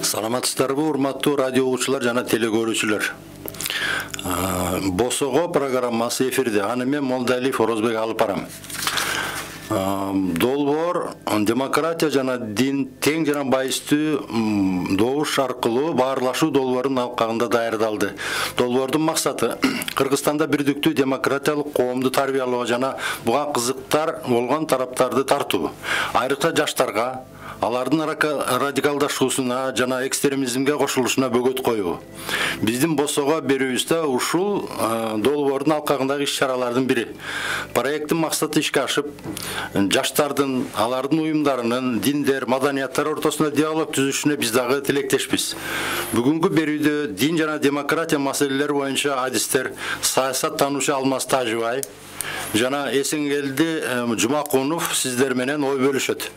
Саламатсыздарбы, урматтуу радио угуучулар жана телекөрүүчүлөр. Босого программасы эфирде. Аны мен Молдалиев Орозбек алып барам. Долбоор демократия жана дин тең жана байыстуу добуш аркылуу баарлашуу долбоорунун алкагында даярдалды. Долбоордун максаты Кыргызстанда бирдиктүү демократиялык коомду тарбиялоо жана буга кызыктар болгон тараптарды тартуу. Айрыкча жаштарга алардын радикалдашуусуна жана экстремизмге кошулушуна бөгөт коюу. Биздин Босого берүүбүздө ушул долбоордун алкагындагы иш-чаралардын бири. Проекттин максаты ишке ашып, жаштардын, алардын уюмдарынын, диндер, маданияттар ортосунда диалог түзүшүнө биз дагы тилектешпиз. Бүгүнкү берүүдө дин жана демократия маселелери боюнча адистер саясаттануучу Алмаз Тажыбай жана Эсенгелди Жумакунов сиздер менен ой бөлүшөт.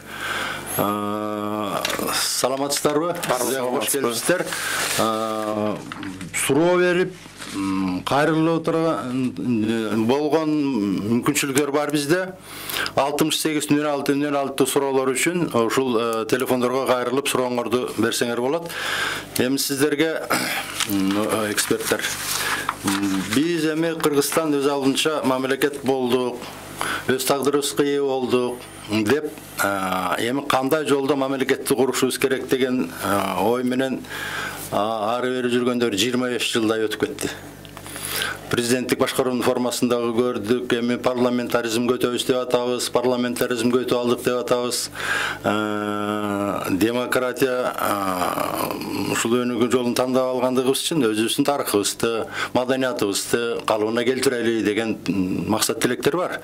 Саламатсыздарбы? Кош келипсиздер. Суроо берип, кайрылып болгон мүмкүнчүлүктөр бар бизде. 68-06-06 суроолор үчүн ушул телефондорго кайрылып сурооңорду берсеңер болот. Эми сиздерге эксперттер. Биз эми Кыргызстан өз алдынча мамлекет болдук, өз тагдырыбызга ээ болдук деп, эми кандай жолдо мамлекетти курушубуз керек деген ой менен ары бери жүргөндөр 25 жылдай өтүп кетти. Президенттик башкаруунун формасындагы көрдүк, эми парламентаризмге өтөбүз деп атабыз, парламентаризмге өтүп алдык деп атабыз. Демократия ушул өнүгүү жолун тандап алгандыгыбыз үчүн өзүбүздүн тарыхыбызды, маданиятыбызды калыбына келтирели деген максат тилектер бар.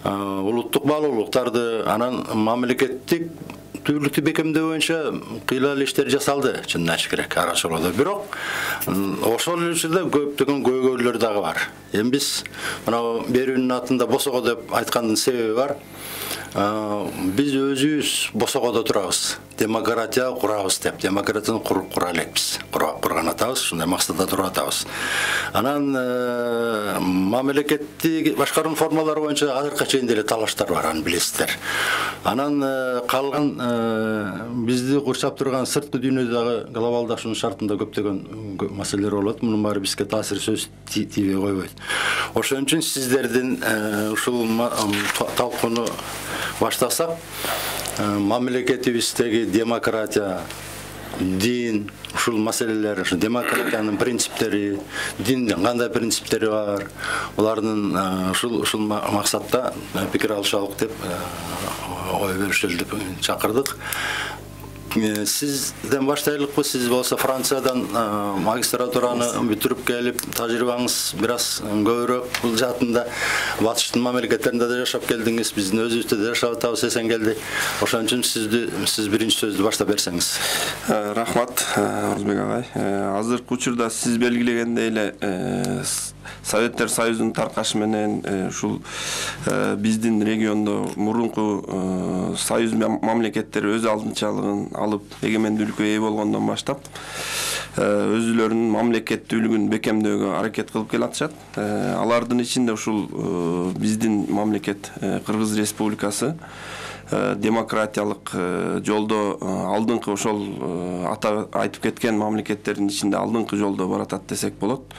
Улуттук баалуулуктарды, анан мамлекеттик түрлүктү бекемдөө боюнча кыйла иштер жасалды, чынын айтыш керек, арачылоодо. Бирок ошол эле көптөгөн көйгөйлөр дагы бар. Эми биз мына берүүнүн атында Босого деп айткандын себеби бар. Биз өзүбүз Босогодо турабыз, демократия курабыз деп, демократияны кура элекпиз. Курган атабыз, ушундай максатта туруп атабыз. Анан мамлекеттик башкаруунун формалары боюнча азыркыга чейин деле талаштар бар, аны билесиздер. Анан калган бизди курчап турган сырткы дүйнөдөгү глобалдашуунун шартында көптөгөн маселелер болот. Мунун баары бизге таасир сөз тийбей койбойт. Ошон үчүн сиздердин ушул талкууну баштасак, мамлекетибиздеги демократия, дин, ушул маселелер, демократиянын принциптери, диндин кандай принциптери бар, булардын ушул максатта пикир алышалык деп ой бөлүшөлү деп чакырдык. Сизден баштайлыкпы? Сиз болсо Франциядан магистратураны бүтүрүп келип, тажрыйбаңыз бир аз көбүрөөк бул жаатында, батыштын мамлекеттеринде да жашап келдиңиз, биздин өзүбүздө да жашап атабыз, Эсенгелди. Ошон үчүн сиз биринчи сөздү баштап берсеңиз. Рахмат, Орозбек агай. Азыркы учурда сиз белгилегендей эле Советтер Союзунун таркашы менен ушул биздин региондо мурунку союз мамлекеттери өз алдынчалыгын алып эгемендүүлүккө ээ болгондон баштап өзүлөрүнүн мамлекеттүүлүгүн бекемдөөгө аракет кылып келатышат. Алардын ичинде ушул биздин мамлекет Кыргыз Республикасы демократиялык жолдо алдыңкы ошол ата айтып кеткен мамлекеттердин ичинде алдыңкы жолдо баратат десек болот.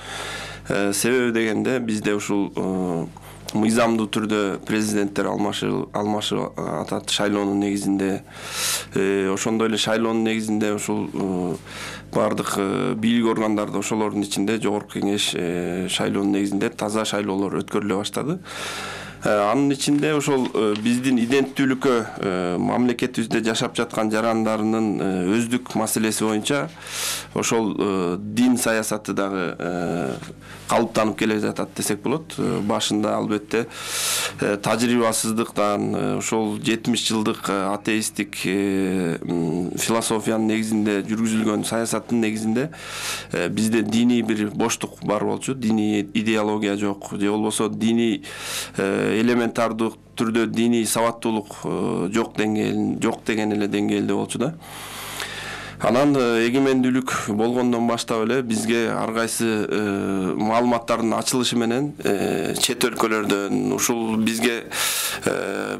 Себеби дегенде бизде ушул мыйзамдуу түрдө президенттер алмашып атат шайлоонун негизинде. Ошондой эле шайлоонун негизинде ушул бардык бийлик органдарда ошолордун ичинде жогорку кеңеш шайлоонун негизинде таза шайлоолор өткөрүлө баштады. Анын ичинде ошол биздин иденттүүлүккө мамлекетибизде жашап жаткан жарандарынын өздүк маселеси боюнча ошол дин саясаты дагы калыптанып келе жатат десек болот. Башында албетте тажрыйбасыздыктан ошол 70 жылдык атеисттик философиянын негизинде жүргүзүлгөн саясаттын негизинде бизде диний бир боштук бар болчу, диний идеология жок, же болбосо диний элементардуу түрдө диний сабаттуулук жок деген эле деңгээлде болчу да. Анан эгемендүүлүк болгондон баштап эле бизге ар кайсы маалыматтардын ачылышы менен чет өлкөлөрдөн, ушул бизге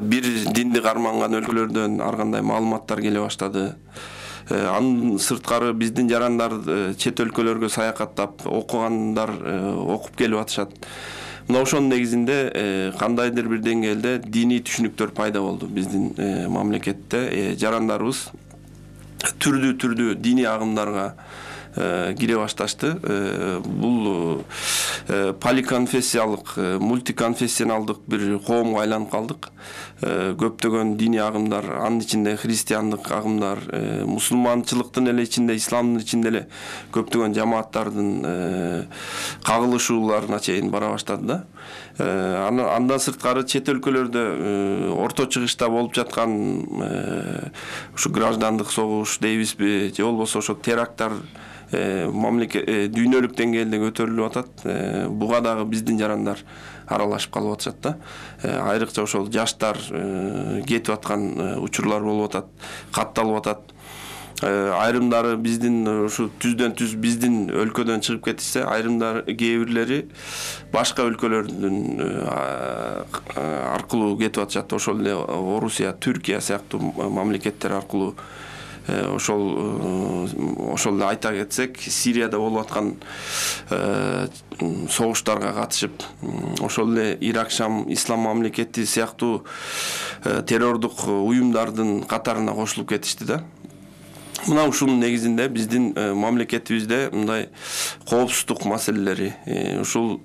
бир динди карманган өлкөлөрдөн ар кандай маалыматтар келе баштады. Анын сырткары биздин жарандар чет өлкөлөргө саякаттап окугандар окуп келип атышат. Мына ошонун негизинде кандайдыр бир деңгээлде диний түшүнүктөр пайда болду биздин мамлекетте. Жарандарыбыз түрдүү диний агымдарга кире башташты. Бул поликонфессиялык, мультиконфессионалдык бир коомго айланып калдык. Көптөгөн диний агымдар, анын ичинде христиандык агымдар, мусулманчылыктын эле ичинде, исламдын ичинде эле көптөгөн жамааттардын кагылышууларына чейин бара баштады да. Андан сырткары чет өлкөлөрдө орто чыгышта болуп жаткан ушу граждандык согуш дейбизби, же болбосо ошо теракттар дүйнөлүк деңгээлде көтөрүлүп атат. Буга дагы биздин жарандар аралашып калып атышат да. Айрыкча ошол жаштар кетип аткан учурлар болуп атат, катталып атат. Айрымдары биздин ушу түздөн түз биздин өлкөдөн чыгып кетишсе, айрымдар кээ бирлери башка өлкөлөрдүн аркылуу кетип атышат. Ошол эле Орусия, Түркия сыяктуу мамлекеттер аркылуу. Ошол эле айта кетсек, Сирияда болуп аткан согуштарга катышып, ошол эле Ирак, Шам, Ислам мамлекети сыяктуу террордук уюмдардын катарына кошулуп кетишти да. Мына ушунун негизинде биздин мамлекетибизде мындай коопсуздук маселелери, ушул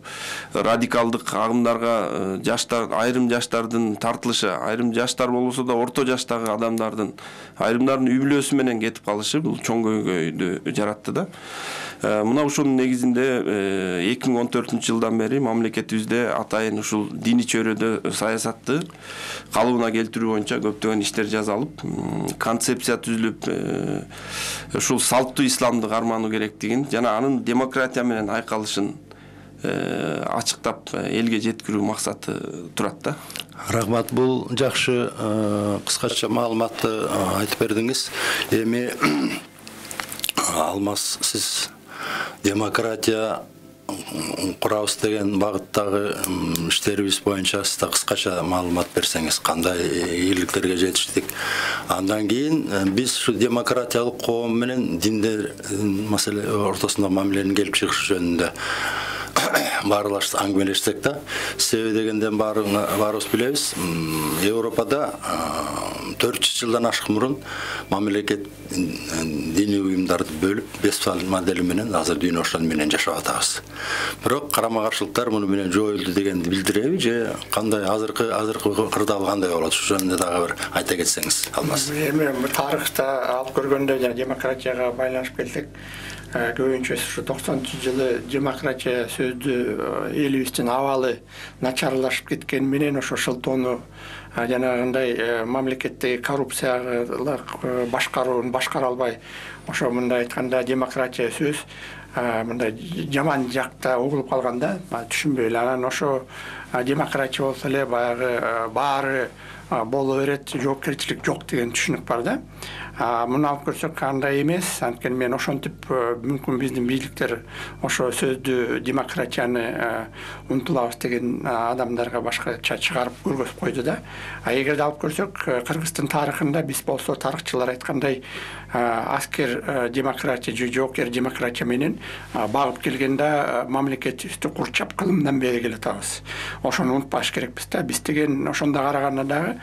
радикалдык агымдарга айрым жаштардын тартылышы, айрым жаштар болбосо да орто жаштагы адамдардын, айрымдардын үй бүлөсү менен кетип калышы бул чоң көйгөйдү жаратты да. Мына ушунун негизинде 2014-жылдан бери мамлекетибизде атайын ушул диний чөйрөдө саясатты калыбына келтирүү боюнча көптөгөн иштер жасалып, концепция түзүлүп, ушул салттуу исламды кармануу керектигин жана анын демократия менен айкалышын ачыктап элге жеткирүү максаты турат да. Рахмат, бул жакшы кыскача маалыматты айтып бердиңиз. Эми Алмаз, сиз демократия курабыз деген багыттагы иштерибиз боюнча сиз да кыскача маалымат берсеңиз, кандай ийгиликтерге жетиштик. Андан кийин биз ушу демократиялык коом менен диндер маселе ортосунда мамиленин келип чыгышы жөнүндө баарлашып аңгемелешсек да. Себеби дегенден баарыбыз билебиз, Европада 400 жылдан ашык мурун мамлекет диний уюмдарды бөлүп, Вестфаль модели менен азыр дүйнө ошон менен жашап атабыз. Бирок карама-каршылыктар муну менен жоюлду дегенди билдиреби, же кандай азыркы кырдаал кандай болот? Ошол жөнүндө дагы бир айта кетсеңиз, Алмаз. Эми тарыхта алып көргөндө жана демократияга байланышып келсек, көбүнчө ушу 90-жылы демократия сөздү элибиздин абалы начарлашып кеткен менен ошо шылтоону жанагындай мамлекеттеги коррупциялык башкарууну башкара албай, ошо мындай айтканда демократия сөз мындай жаман жакта угулуп калганда түшүнбөй эле. Анан ошо демократия болсо эле баягы баары боло берет, жоопкерчилик жок деген түшүнүк бар да. Муну алып көрсөк андай эмес. Анткени мен ошентип мүмкүн биздин бийликтер ошо сөздү демократияны унутулабыз деген адамдарга башкача чыгарып көргөзүп койду да. Эгерде алып көрсөк, Кыргыздын тарыхында биз болсо тарыхчылар айткандай аскер демократия же жоокер демократия менен багып келгенде мамлекетибизди курчап кылымдан бери келатабыз. Ошону унутпаш керекпиз да. Биз деген ошондо караганда дагы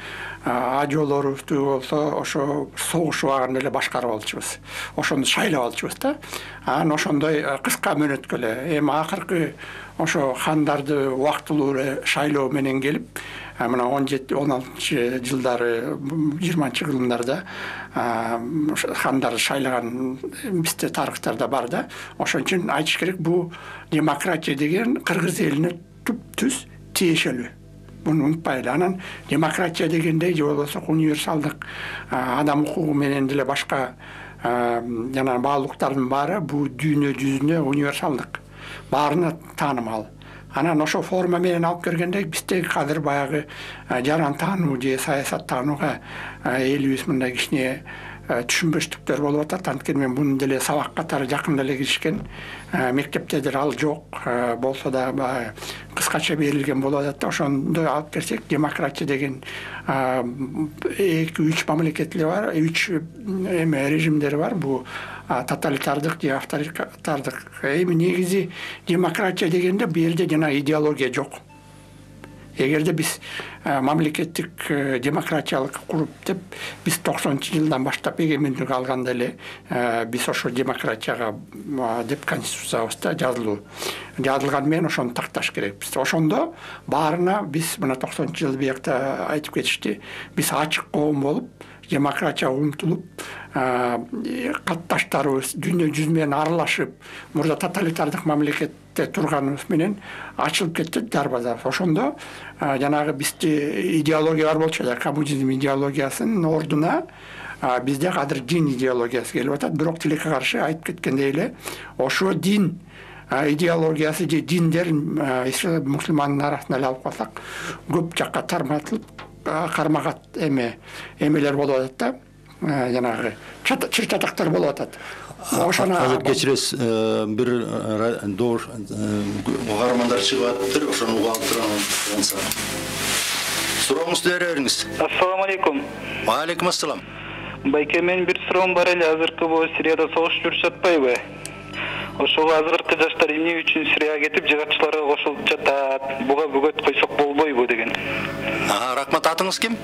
ажоолорубузду болсо ошо согуш убагында эле башкарып алчубуз. Ошону шайлап алчубуз да. Анан ошондой кыска мөөнөткө эле эми акыркы ошо хандарды убактылуу эле шайлоо менен келип, мына 17-16 жылдары 20-кылымдарда хандар шайлаган бизде тарыхтарда бар да. Ошон үчүн айтыш керек, бул демократия деген кыргыз элине түп-түз тиешелүү. Буну унутпайлы. Анан демократия дегенде же болбосо универсалдык адам укугу менен деле башка жана баалуулуктардын баары бул дүйнө жүзүнө универсалдык, баарына таанымал. Анан ошо форма менен алып кергенде бизде азыр баягы жаран таануу же саясат таанууга элибиз мындай кичине түшүнбөчтүктөр болуп атат. Анткени мен муну деле сабак катары жакында эле киришкен. Мектепте деле ал жок. Болсо да кыскача берилген болуп атат да. Ошондой алып келсек, демократия деген 2-3 мамлекеттер бар, 3 режимдер бар. Бул тоталитардык же авторитардык. Эми негизи демократия дегенде бул жерде жана идеология жок. Эгерде биз мамлекеттик демократиялык куруп деп биз 90-жылдан баштап эгемендик алганда эле биз ошо демократияга деп конституциябызда жазылган менен ошону такташ керекпиз. Ошондо баарына биз мына 90-жыл биякта айтып кетишти. Биз ачык коом болуп, демократияга умтулуп, катташтарыбыз дүйнө жүзү менен аралашып, мурда тоталитардык мамлекетте турганыбыз менен ачылып кетти дарбаза. Ошондо жанагы бизде идеология бар болчу да, коммунизм идеологиясынын ордуна бизде азыр дин идеологиясы келип атат. Бирок тилекке каршы айтып кеткендей эле, ошо дин идеологиясы же диндер мусулмандын арасында эле алып калсак, көп жакка тарматылып, кармагат эмелер болуп атат да. Жанагы чыр-чатактар болуп атат. Ошону азыр кечиресиз, бир добуш угармандар чыгып атыптыр, ошону уга алып турган. Сурооңузду бере бериңиз. Ассаламу алейкум. Ва алейкум ассалам. Байке, менин бир суроом бар эле. Азыркы бул Сирияда согуш жүрүп жатпайбы? Ошого азыркы жаштар эмне үчүн Сирияга кетип, жыгатчыларга кошулуп жатат? Буга бөгөт койсок болбойбу деген. Рахмат. Атыңыз ким?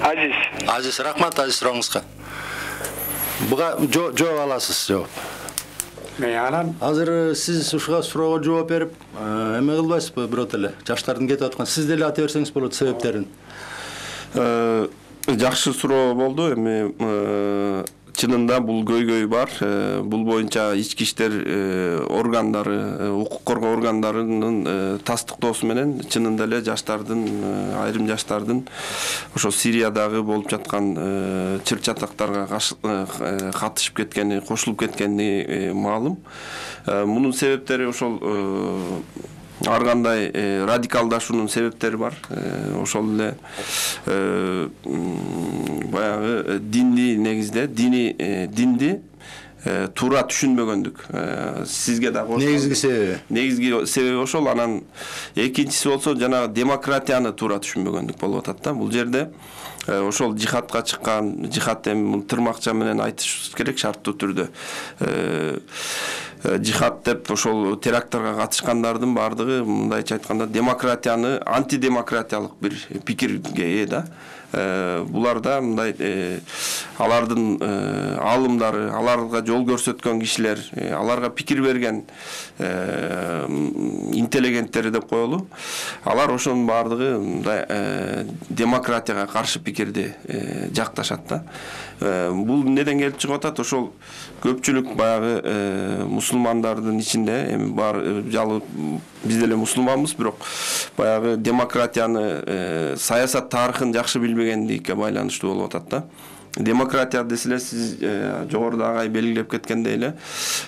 Азиз. Азиз, рахмат Азиз сурооңузга. Буга жооп аласыз, жооп. Анан Азыр сиз ушуга суроого жооп берип, эме кылбайсызбы бирок эле? Жаштардын кетип аткан. Сиз деле айта берсеңиз болот себептерин. Жакшы суроо болду. Эми чынында бул көйгөй бар. Бул боюнча ички иштер органдары, укук коргоо органдарынын тастыктоосу менен чынында эле жаштардын, айрым жаштардын ошо Сириядагы болуп жаткан чыр-чатактарга катышып кеткени, кошулуп кеткени маалым. Мунун себептери ошол ар кандай радикалдашуунун себептери бар. Ошол эле баягы динди негизде, динди туура түшүнбөгөндүк. Сизге да кошулат. Негизги себеби ошол. Анан экинчиси болсо жанагы демократияны туура түшүнбөгөндүк болуп атат да. Бул жерде ошол жихадка чыккан, жихад эми тырмакча менен айтышыбыз керек шарттуу түрдө. Жихад деп ошол теракттарга катышкандардын баардыгы мындайча айтканда демократияны антидемократиялык бир пикирге ээ да. Буларда мындай алардын аалымдары, аларга жол көрсөткөн кишилер, аларга пикир берген интеллигенттери деп коелу. Алар ошонун баардыгы мындай демократияга каршы пикирди жакташат да. Бул неден келип чыгып атат? Ошол көпчүлүк баягы мусулмандардын ичинде эми бар жалы биз деле мусулманбыз, бирок баягы демократияны, саясат тарыхын жакшы билбегендикке байланыштуу болуп атат да. Демократия деселе сиз жогоруда агай белгилеп кеткендей эле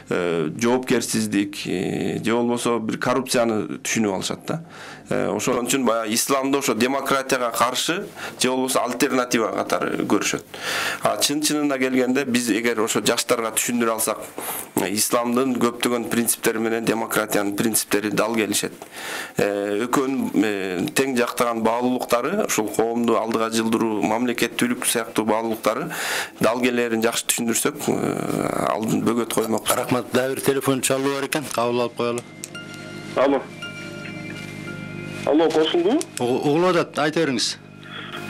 жоопкерсиздик же болбосо бир коррупцияны түшүнүп алышат да. Ошон үчүн баягы исламда ошо демократияга каршы же болбосо альтернатива катары көрүшөт. Чын-чынына келгенде биз эгер ошо жаштарга түшүндүрө алсак, исламдын көптөгөн принциптери менен демократиянын принциптери дал келишет. Экөөнүн тең жактаган баалуулуктары, ошол коомду алдыга жылдыруу, мамлекеттүүлүк сыяктуу баалуулуктары дал келерин жакшы түшүндүрсөк, алдын бөгөт коймок. Рахмат. Дагы бир телефон чалуу бар экен. Кабыл алып коелу. Алло, кошулду? Угулуп атат, айта бериңиз.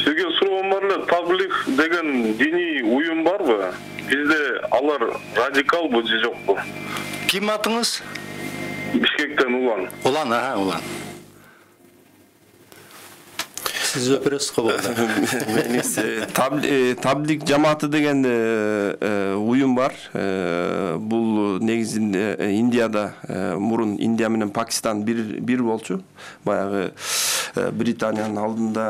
Сизге суроом бар эле, таблих деген диний уюм барбы? Бизде алар радикалбы же жокпу? Ким атыңыз? Бишкектен Улан. Улан. Сиз жооп бересиз го болду. Таблик жамааты деген уюм бар. Бул негизинде Индияда мурун Индия менен Пакистан бир болчу. Баягы Британиянын алдында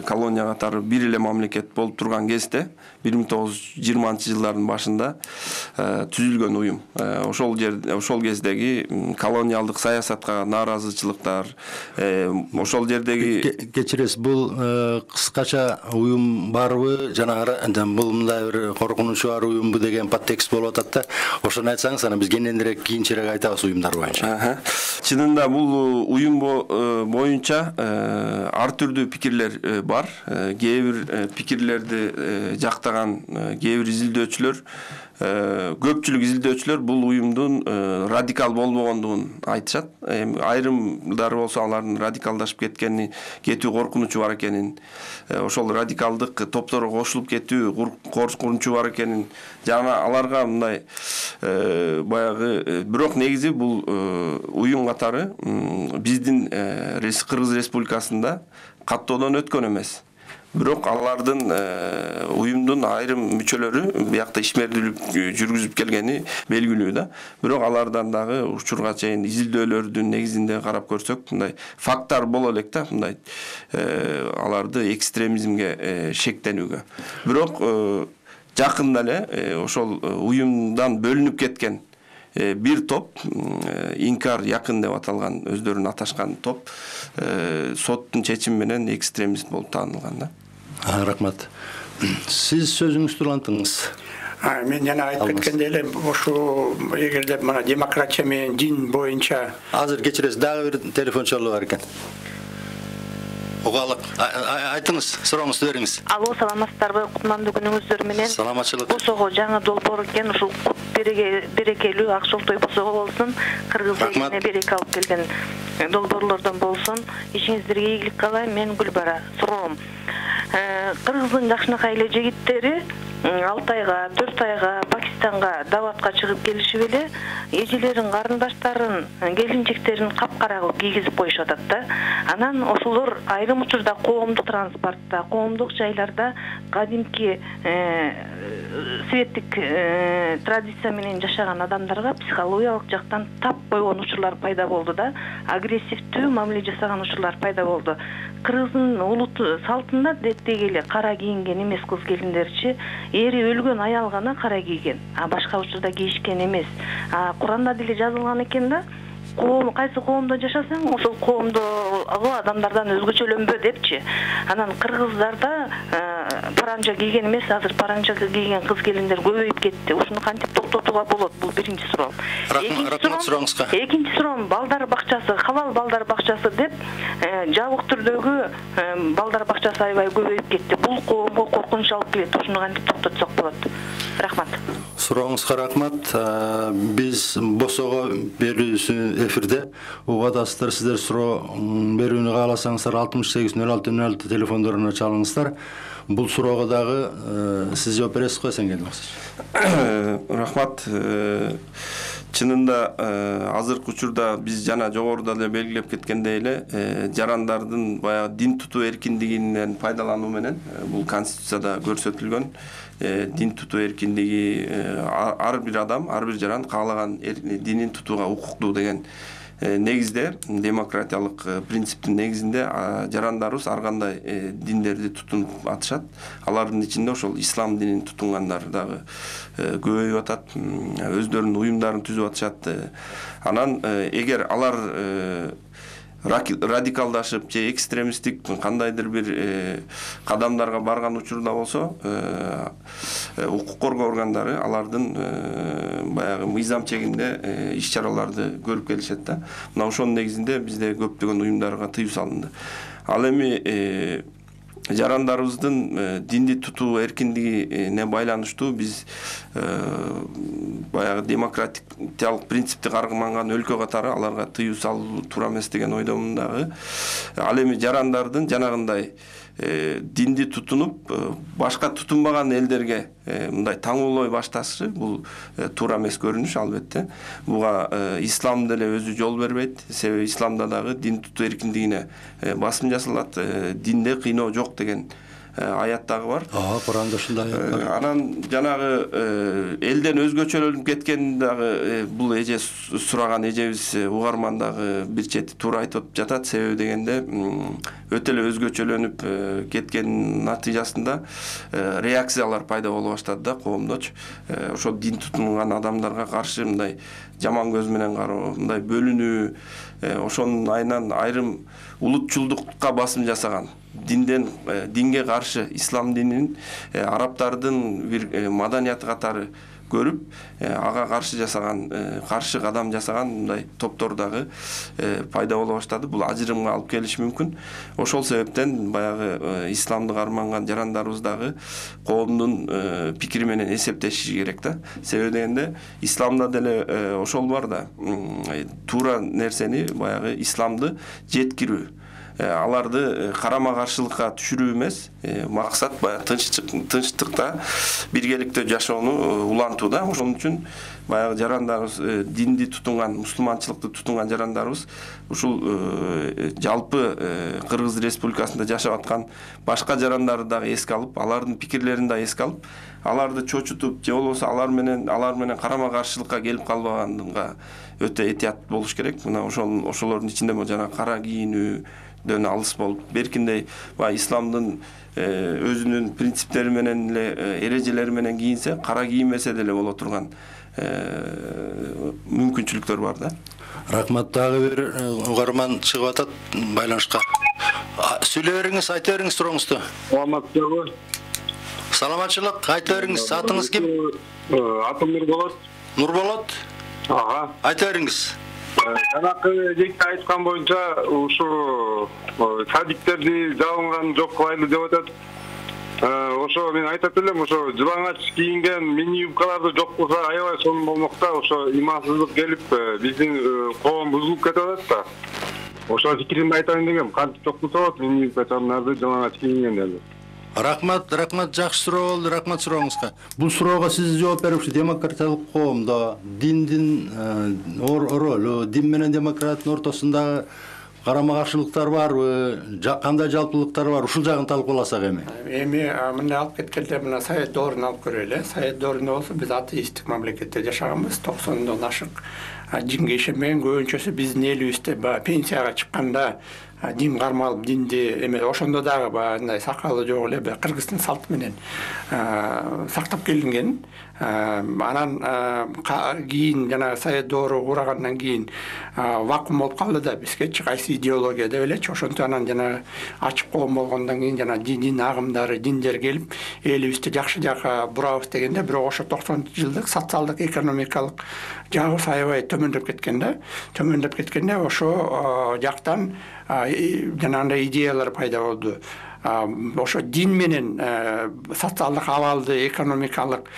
колония катары бир эле мамлекет болуп турган кезде 1920-жылдардын башында түзүлгөн уюм. Ошол кездеги колониалдык саясатка нааразычылыктар, ошол жердеги кечиресиз, бул кыскача уюм барбы, жанагы бул мындай бир коркунучу бар уюмбу деген подтекст болуп атат да. Ошону айтсаңыз, анан биз кийинчерээк айтабыз уюмдар боюнча. Чынында бул уюм боюнча ар түрдүү пикирлер бар. Кээ бир пикирлерди жактаган кээ бир изилдөөчүлөр, көпчүлүк изилдөөчүлөр бул уюмдун радикал болбогондугун айтышат. Айрымдары болсо алардын радикалдашып кетүү коркунучу бар экенин, ошол радикалдык топторго кошулуп кетүү коркунучу бар экенин, жана аларга мындай баягы, бирок негизи бул уюм катары биздин Кыргыз Республикасында каттоодон өткөн эмес. Бирок алардын уюмдун айрым мүчөлөрү биякта ишмердүүлүк жүргүзүп келгени белгилүү да. Бирок алардан дагы учурга чейин изилдөөлөрдүн негизинде карап көрсөк, мындай факттар боло элек да, мындай аларды экстремизмге шектенүүгө. Бирок жакында эле ошол уюмдан бөлүнүп кеткен бир топ, инкар якын деп аталган, өздөрүн аташкан топ, соттун чечими менен экстремист болуп таанылган да. Рахмат. Сиз сөзүңүздү улантыңыз. Мен жана айтып кеткендей эле, ошо эгерде мына демократия менен дин боюнча азыр кечиресиз, дагы бир телефон чалуу бар экен. Угалык. Айтыңыз, сурооңузду бериңиз. Алло, саламатсыздарбы? Кутмандуу күнүңүздөр менен. Саламатчылык. Босого жаңы долбоор экен, ушул берекелүү Акчолтой босого болсун, Кыргыз элине береке алып келген долбоорлордон болсун. Ишиңиздерге ийгилик каалайм. Мен Гүлбара. Суроом. Кыргыздын жакшынакай эле жигиттери Алтайга, Төртайга, Пакистанга даватка чыгып келишип эле эжелерин, карындаштарын, келинчектерин капкара кылып кийгизип коюшуп атат да. Анан ошолор айрым учурда коомдук транспортто, коомдук жайларда кадимки светтик традиция менен жашаган адамдарга психологиялык жактан тап койгон учурлар пайда болду да. Агрессивдүү мамиле жасаган учурлар пайда болду. Кыргыздын улут салтында деги эле кара кийинген эмес кыз келиндерчи, эри өлгөн аял гана кара кийген, башка учурда кийишкен эмес. Куранда деле жазылган экен да, кайсы коомдо жашасаң, ошол коомдогу адамдардан өзгөчөлөнбө депчи. Анан кыргыздарда паранжа кийген эмес, азыр паранжа кийген кыз келиндер көбөйүп кетти. Ушуну кантип токтотууга болот? Бул биринчи суроо. Экинчи суроом, балдар бакчасы, халал балдар бакчасы деп жабык түрдөгү балдар бакчасы аябай көбөйүп кетти. Бул коомго коркунуч алып келет. Ушуну кантип токтотсок болот? Рахмат. Сурооңузга рахмат. Биз босого берүүсү эфирде. Угадасыздар, сиздер суроо берүүнү кааласаңыздар 680606 телефондоруна чалыңыздар. Бул суроого дагы сиз жооп бересиз го, Эсенгелди Максимович? Рахмат. Чынында азыркы учурда биз жана жогоруда эле белгилеп кеткендей эле жарандардын баягы дин тутуу эркиндигинен пайдалануу менен бул конституцияда көрсөтүлгөн дин тутуу эркиндиги, ар бир адам, ар бир жаран каалаган динин тутууга укуктуу деген негизде, демократиялык принциптин негизинде жарандарыбыз ар кандай диндерди тутунуп атышат. Алардын ичинде ошол ислам динин тутунгандар дагы көбөйүп атат, өздөрүнүн уюмдарын түзүп атышат. Анан эгер алар радикалдашып же экстремисттик кандайдыр бир кадамдарга барган учурда болсо, укук коргоо органдары алардын баягы мыйзам чегинде иш-чараларды көрүп келишет да. Мына ошонун негизинде бизде көптөгөн уюмдарга тыюу салынды. Ал эми жарандарыбыздын динди тутуу эркиндигине байланыштуу биз баягы демократиялык принципти карманган өлкө катары аларга тыюу салуу туура эмес деген ойдомун дагы. Ал эми жарандардын жанагындай динди тутунуп башка тутунбаган элдерге мындай таңоолой башташы бул туура эмес көрүнүш албетте. Буга ислам деле өзү жол бербейт. Себеби исламда дагы дин тутуу эркиндигине басым жасалат, динде кыйноо жок деген аят дагы бар. Куранда ушундай аят бар. Анан жанагы элден өзгөчөлөнүп кеткен дагы бул эже сураган эжебиз угарман дагы бир чети туура айтып жатат. Себеби дегенде өтө эле өзгөчөлөнүп кеткен натыйжасында реакциялар пайда боло баштады да коомдочу. Ошо дин тутунган адамдарга каршы мындай жаман көз менен кароо, мындай бөлүнүү, ошонун айынан айрым улутчулдукка басым жасаган, динге каршы, ислам динин арабтардын бир маданияты катары көрүп, ага каршы жасаган, каршы кадам жасаган мындай топтор дагы пайда боло баштады. Бул ажырымга алып келиши мүмкүн. Ошол себептен баягы исламды карманган жарандарыбыз дагы коомдун пикири менен эсептешиши керек да. Себеби дегенде исламда деле ошол бар да. Туура нерсени, баягы исламды жеткирүү, аларды карама каршылыкка түшүрүү эмес, максат баягы тынчтыкта биргеликте жашоону улантуу да. Ошон үчүн баягы жарандарыбыз, динди тутунган, мусулманчылыкты тутунган жарандарыбыз ушул жалпы Кыргыз Республикасында жашап аткан башка жарандарды дагы эске алып, алардын пикирлерин да эске алып, аларды чочутуп, же болбосо алар менен карама каршылыкка келип калбаганга өтө этият болуш керек. Мына ошолордун ичинде жана кара кийинүүдөн алыс болуп, беркиндей баягы исламдын өзүнүн принциптери менен эле, эрежелери менен кийинсе, кара кийинмесе деле боло турган мүмкүнчүлүктөр бар да. Рахмат, дагы бир угарман чыгып атат байланышка. Сүйлөй бериңиз, айта бериңиз сурооңузду. Саламатсызбы? Саламатчылык, айта бериңиз. Атыңыз ким? Атым Нурболот. Нурболот? Айта бериңиз. Жанакы жекте айткан боюнча ушу садиктерди жабынган жок кылайлы деп атат. Ошо мен айтат элем, ошо жылаңач кийинген мини юбкаларды жок кылса аябай сонун болмок да. Ошо имансыздык келип биздин коом бузулуп кетип атат да. Ошо фикиримди айтайын дегем. Кантип жок кылса болот мини юбкаларды жылаңач кийингендерди. Рахмат, жакшы суроо болду. Рахмат сурооңузга. Бул суроого сиз жооп берипсиз. Демократиялык коомдо диндин ролу, дин менен демократтын ортосунда карама каршылыктар барбы, кандай жалпылыктар бар? Ушул жагын талкууласак эми. Мындай алып кеткенде мына Совет доорун алып көрөлү. Совет доорунда болсо биз атеисттик мамлекетте жашаганбыз. 90-дан ашык динге ишенбеген көбүнчөсү биздин элибизде пенсияга чыкканда дин кармалып, динди эме ошондо дагы баягындай сакалы жок эле кыргыздын салты менен сактап келинген. Анан кийин жана Совет доору курагандан кийин вакуум болуп калды да, бизгечи кайсы идеология деп элечи. Ошентип анан жана ачык коом болгондон кийин жана дин агымдары, диндер келип элибизди жакшы жакка бурабыз дегенде, бирок ошо 90-жылдык социалдык, экономикалык жагыбыз аябай төмөндөп кеткен да. Төмөндөп кеткенде ошо жактан жанагындай идеялар пайда болду. Ошо дин менен социалдык абалды, экономикалык,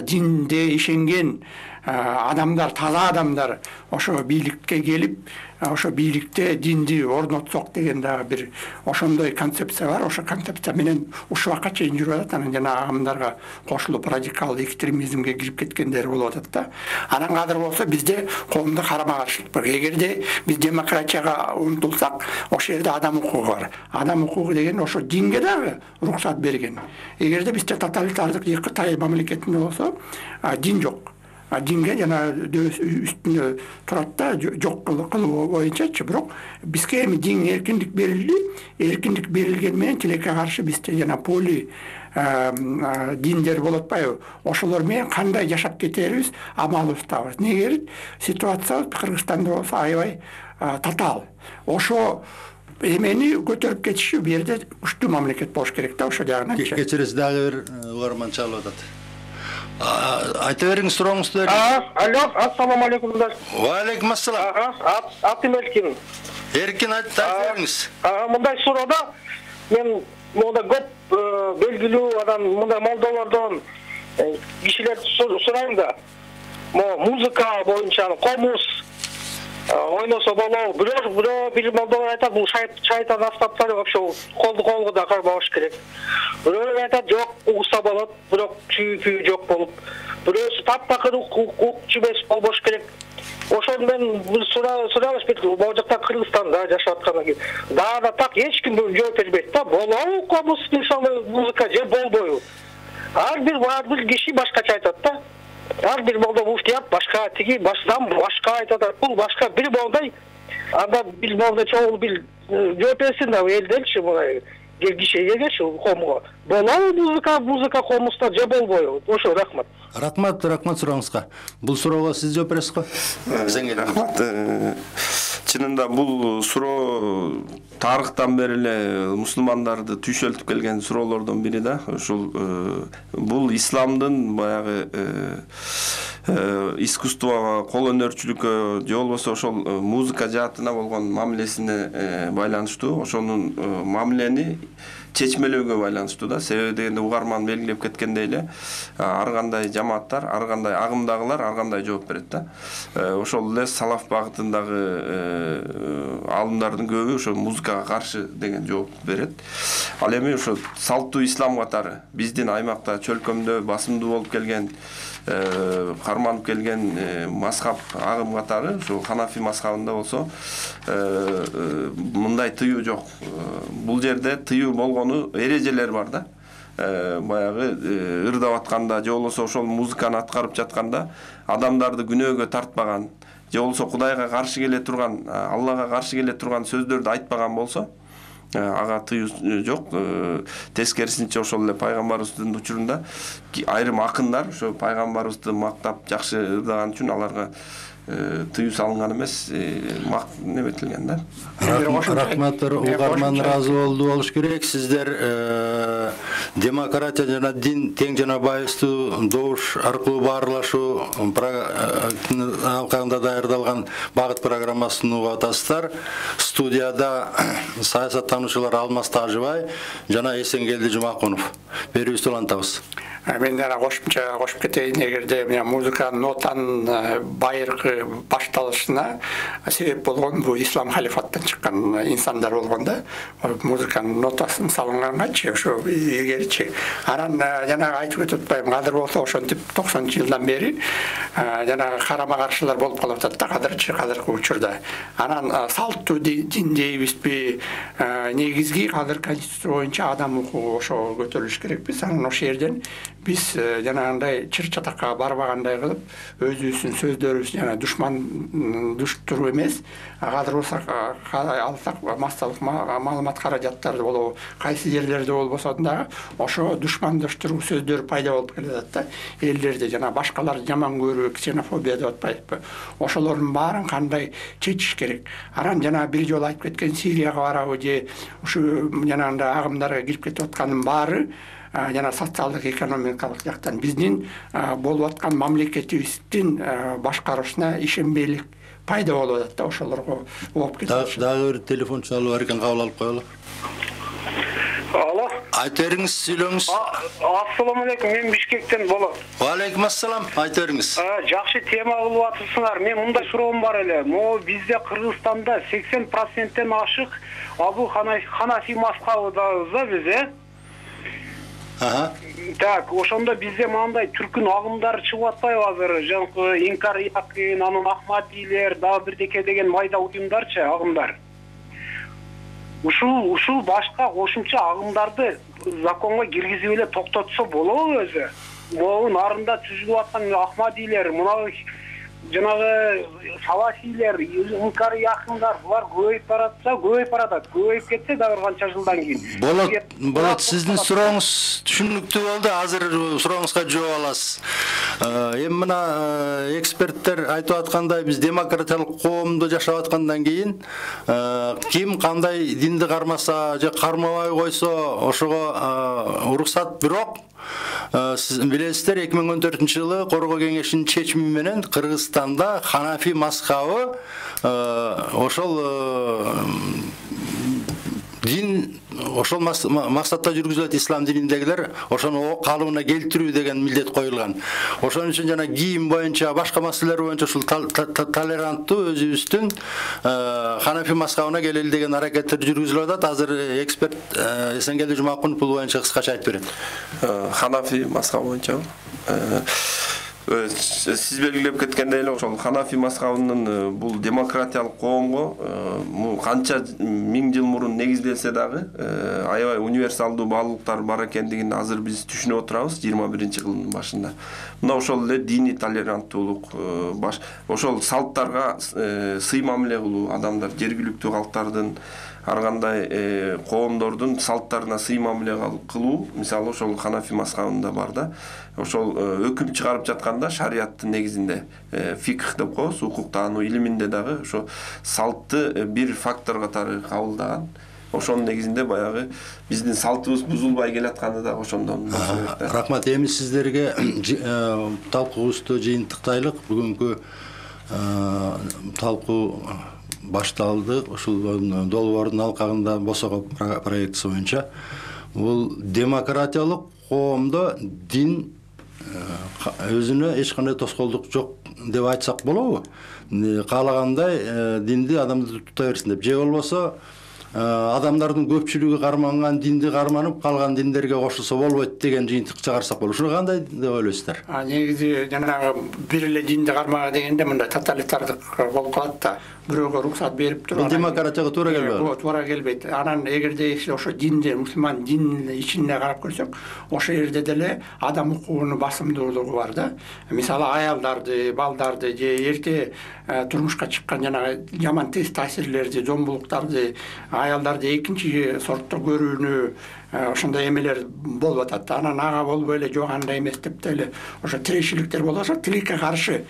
динде ишенген адамдар, таза адамдар ошо бийликке келип, ошо бийликте динди орнотсок деген дагы бир ошондой концепция бар. Ошо концепция менен ушуга чейин жүрүп атат. Анан жана агымдарга кошулуп радикалдуу экстремизмге кирип кеткендер болуп атат да. Анан кадыр болсо бизде коомдо карама каршылык бар. Эгерде биз демократияга умтулсак, ошол жерде адам укугу бар. Адам укугу деген ошо динге дагы уруксат берген. Эгерде бизде тоталитардык Кытай мамлекетинде болсо дин жок. Динге жана үстүнө турат да, жок кылуу боюнчачы. Бирок бизге эми дин эркиндик берилди. Эркиндик берилген менен тилекке каршы бизде жана поли диндер болуп атпайбы? Ошолор менен кандай жашап кетерибиз амалыбызда бар. Неге ситуация Кыргызстанда болсо аябай татаал. Ошо эмени көтөрүп кетиши бу жерде күчтүү мамлекет болуш керек да, ошо жагынан. Кечиресиз, дагы бир угарман чалып атат. Айта бериңиз сурооңузду. Алло, ассаламу алейкум. Ва алейкум ассалам. Атым Эркин. Эркин, айта бериңиз. Мындай суроода мен монда көп белгилүү адам, мындай молдолордон кишилерди сурайм да. Музыка боюнча комуз ойносо болобу. Бирөө бир молдолор айтат, бул шайтан аспаптары вообще колду да кармабаш керек. Бирөө айтат, жок, угса болот, бирок чүй жок болуп. Бирөөсү таптакыр укчу эмес болбош керек. ошону мен суралышып могу жакта Кыргызстанда жашап аткандан кийин дагы да так эч ким жооп бербейт да. Болобу комуз мисалы музыка же болбойбу? Ар бир киши башкача айтат да. Ар бир молдо муфтият башка, тиги башкам башка айтат, бул башка бир болдай. Анда бир молдо чоң бир жооп берсин да элдерчи мындай кишигечи комго. Болобу музыка комузда же болбойбу? Ошо рахмат. Рахмат сурооңузга. Бул суроого сиз жооп бересиз го? Рахмат. Чынында бул суроо тарыхтан бери эле мусулмандарды түйшөлтүп келген суроолордун бири да. Ушул бул исламдын баягы искусствого, кол өнөрчүлүккө же болбосо ошол музыка жаатына болгон мамилесине байланыштуу. Ошонун мамилени чечмелөөгө байланыштуу да. Себеби дегенде угарман белгилеп кеткендей эле ар кандай жамааттар, ар кандай агымдагылар ар кандай жооп берет да. Ошол эле салаф багытындагы алымдардын көбү ошо музыкага каршы деген жооп берет. Ал эми ошо салттуу ислам катары биздин аймакта чөлкөмдө басымдуу болуп келген карманып келген мазхаб агым катары ошо Ханафи мазхабында болсо мындай тыюу жок. Бул жерде тыюу болгону эрежелер бар да. Баягы ырдап атканда же болбосо ошол музыканы аткарып жатканда адамдарды күнөөгө тартпаган же болбосо Кудайга каршы келе турган, Аллага каршы келе турган сөздөрдү айтпаган болсо ага тыюу жок. Тескерисинче ошол эле пайгамбарыбыздын учурунда айрым акындар ошо пайгамбарыбызды мактап жакшы ырдаган үчүн аларга тыюу салынган эмес, неметилген да. Рахмат, угарман ыраазы болуш керек. Сиздер демократия жана дин тең жана байыстуу добуш аркылуу баарлашуу алкагында даярдалган багыт программасын угуп атасыздар. Студияда саясаттануучулар Алмаз Тажыбай жана Эсенгелди Жумакунов. Берүүбүздү улантабыз. Мен дагы кошумча кошуп кетейин, эгерде музыка нотанын байыркы башталышына себеп болгон бул ислам халифаттан чыккан инсандар болгонда, музыканын нотасын салынганганчы ошо эгерчи анан жанагы айтып өтүп атпайбы, азыр болсо ошентип 90-жылдан бери жанагы карама каршылар болуп калып атат да азыркы учурда. Анан салттуу дин дейбизби, негизги азыр конституция боюнча адам укугу ошо көтөрүлүш керекпиз. Анан ошол жерден биз жанагындай чыр-чатакка барбагандай кылып өзүбүздүн сөздөрүбүз жана душтур эмес, азыр болсо алсак массалык маалымат каражаттарды болобу, кайсы жерлерде болбосо дагы ошо душмандыштыруу сөздөр пайда болуп келатат да. Элдерди жана башкаларды жаман көрүү, ксенофобия деп атпайбы. Ошолордун баарын кандай чечиш керек. Анан жана бир жолу айтып кеткен Сирияга барабы же ушу жанагындай агымдарга кирип кетип аткандын баары жана социалдык экономикалык жактан биздин болуп аткан мамлекетибиздин башкаруусуна ишенбейлик пайда болуп атат да, ошолорго болуп кетет. Дагы бир телефон чалуу бар экен, кабыл алып коелу. Алло. Айта бериңиз, сүйлөңүз. Ассаламу алейкум, мен Бишкектен болот. Ва алейкум ассалам, айта бериңиз. Жакшы тема кылып атырсыңар. Мен мындай суроом бар эле. Могу бизде Кыргызстанда 80%тен ашык Абу Ханафи мазхабыбыз да биз, Так, ошондо бизде мындай түркүн агымдары чыгып атпайбы азыр? Жанагы Инкар Якын, анан Ахмадилер, дагы бирдеке деген майда уюмдарчы агымдар. Ушул башка кошумча агымдарды законго киргизип эле токтотсо болобу өзү? Могу нарында түзүлүп аткан Ахмадилер, мына жанагы салафилер, Инкар Якындар, булар көбөйүп баратат. Көбөйүп кетсе дагы канча жылдан кийин. Болот, сиздин сурооңуз түшүнүктүү болду. Азыр сурооңузга жооп аласыз. Эми мына эксперттер айтып аткандай, биз демократиялык коомдо жашап аткандан кийин ким кандай динди кармаса же кармабай койсо ошого уруксат. Бирок сиз билесиздер, 2014-жылы Коргоо кеңешинин чечими менен Кыргызстанда Ханафи мазхабы ошол дин ошол максатта жүргүзүлөт, ислам дининдегилер ошону калыбына келтирүү деген милдет коюлган. Ошон үчүн жана кийим боюнча, башка маселелер боюнча ушул толеранттуу өзүбүздүн Ханафи мазхабына келели деген аракеттер жүргүзүлүп атат. Азыр эксперт Эсенгелди Жумакунов бул боюнча кыскача айтып берет. Ханафи мазхабы боюнча Сиз белгилеп кеткендей эле ошол Ханафи мазхабынын бул демократиялык коомго канча миң жыл мурун негизделсе дагы аябай универсалдуу баалуулуктар бар экендигин азыр биз түшүнүп отурабыз 21-кылымдын башында. Мына ошол эле диний толеранттуулук, ошол салттарга сый мамиле кылуу, адамдар жергиликтүү калктардын ар кандай коомдордун салттарына сый мамиле кылуу, мисалы ошол Ханафи мазхабында бар да. Ошол өкүм чыгарып жатканда шариаттын негизинде фикх деп коебуз, укук таануу илиминде дагы ошо салтты бир фактор катары кабылдаган. Ошонун негизинде баягы биздин салтыбыз бузулбай келатканы да ошондон болсо керек да. Рахмат, эми сиздерге талкуубузду жыйынтыктайлык. Бүгүнкү талкуу башталды. Ушул долбоордун алкагында босого проектиси боюнча бул демократиялык коомдо дин өзүнө эч кандай тоскоолдук жок деп айтсак болобу? Каалагандай динди адамды тута берсин деп, же болбосо адамдардын көпчүлүгү карманган динди карманып, калган диндерге кошулса болбойт деген жыйынтык чыгарсак болот. Ушуну кандай деп ойлойсуздар? Негизи жанагы бир эле динди кармага дегенде мындай тоталитардык болуп калат да. Бирөөгө уруксат берип туруп. Бул демократияга туура келбейт. Туура келбейт. Анан эгерде ошо динди, мусулман динин ичине карап көрсөк, ошол жерде деле адам укугунун басымдуулугу бар да. Мисалы аялдарды, балдарды же эрте турмушка чыккан жанагы жаман таасирлерди, зомбулуктарды, аялдарды экинчи сортто көрүүнү, ошондой эмелер болуп атат. Анан ага болбой эле жок андай эмес деп деле ошо тирешчиликтер болуп атат, тилекке каршы.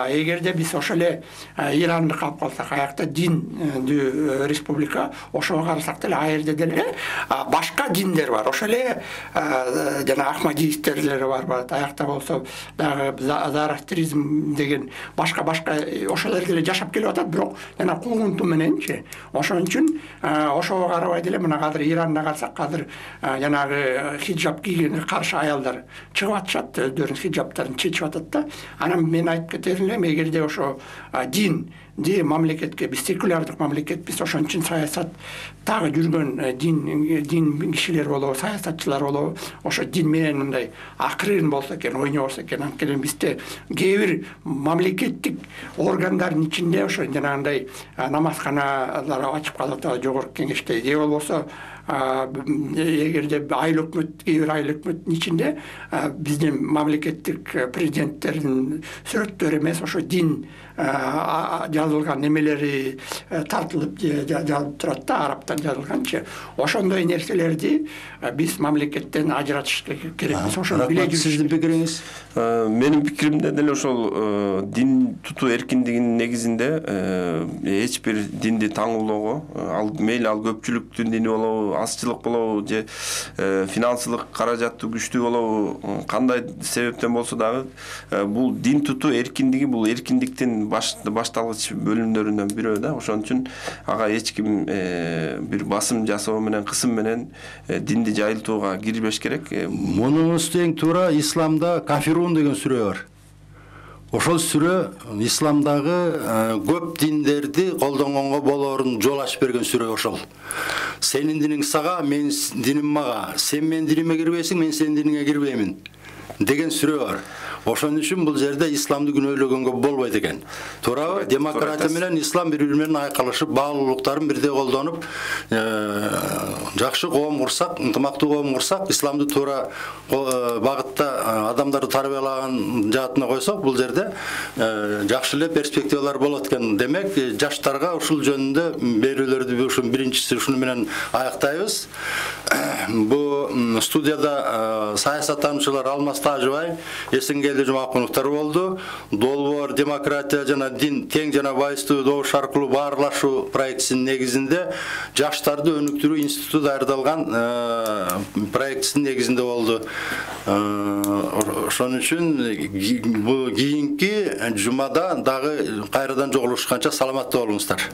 Эгерде биз ошол эле Иранды калып калсак, аякта диндүү республика, ошого карасак деле ал жерде деле башка диндер бар. Ошол эле жана ахмадиисттер бар. Аякта болсо дагы зарастризм деген башка ошолор деле жашап келип атат, бирок жана куугунту мененчи. Ошон үчүн ошого карабай деле мына азыр Иранда карасак, азыр жанагы хиджаб кийгенге каршы аялдар чыгып атышат, өздөрүнүн хиджабтарын чечип атат да. Анан мен айтып кетерим эле, эгерде ошо дин мамлекетке, биз секулярдык мамлекетпиз, ошон үчүн саясаттагы жүргөн дин кишилер болобу, саясатчылар болобу, ошо дин менен мындай акырын болсо экен, ойнобосо экен. Анткени бизде кээ бир мамлекеттик органдардын ичинде ошо жанагындай намазканалар ачып калат, жогорку кеңеште, же болбосо эгерде айыл өкмөт, кээ бир айыл өкмөттүн ичинде биздин мамлекеттик президенттердин сүрөттөрү эмес, ошо дин жазылган немелери тартылып жазылып турат да, арабтан жазылганчы. Ошондой нерселерди биз мамлекеттен ажыратыш керекпиз. Ошону биле жүрүш. Сиздин пикириңиз? Менин пикиримде деле ошол дин тутуу эркиндигинин негизинде эч бир динди таңуулоого, ал мейли ал көпчүлүктүн дини болобу, азчылык болобу, же финансылык каражаттуу күчтүү болобу, кандай себептен болсо дагы бул дин тутуу эркиндиги бул эркиндиктин башталгыч бөлүмдөрүнөн бирөө да. Ошон үчүн ага эч ким бир басым жасоо менен, кысым менен динди жайылтууга кирбеш керек. Мунунуз тең туура исламда кафирун деген сүрө бар. Ошол сүрө исламдагы көп диндерди колдонгонго болоорун жол ачып берген сүрө ошол. Сенин диниң сага, менин диним мага. Сен менин диниме кирбейсиң, мен сенин диниңе кирбеймин деген сүрө бар. Ошон үчүн бул жерде исламды күнөөлөгөнгө болбойт экен. Туурабы? Демократия менен ислам бири-бири менен айкалышып, баалуулуктарын бирдей колдонуп, жакшы коом курсак, ынтымактуу коом курсак, исламды туура багытта адамдарды тарбиялаган жаатына койсок, бул жерде жакшы эле перспективалар болот экен. Демек, жаштарга ушул жөнүндө берүүлөрдү ушун биринчиси ушуну менен аяктайбыз. Бу студияда саясаттануучулар Алмаз Тажыбай, Эсенгелди Жумакуновдор болду. Долбоор демократия жана дин тең жана байыстуу добуш аркылуу баарлашуу проектисинин негизинде жаштарды өнүктүрүү институту даярдалган проектисинин негизинде болду. Ошон үчүн бу кийинки жумада дагы кайрадан жолугушканча саламаттуу болуңуздар.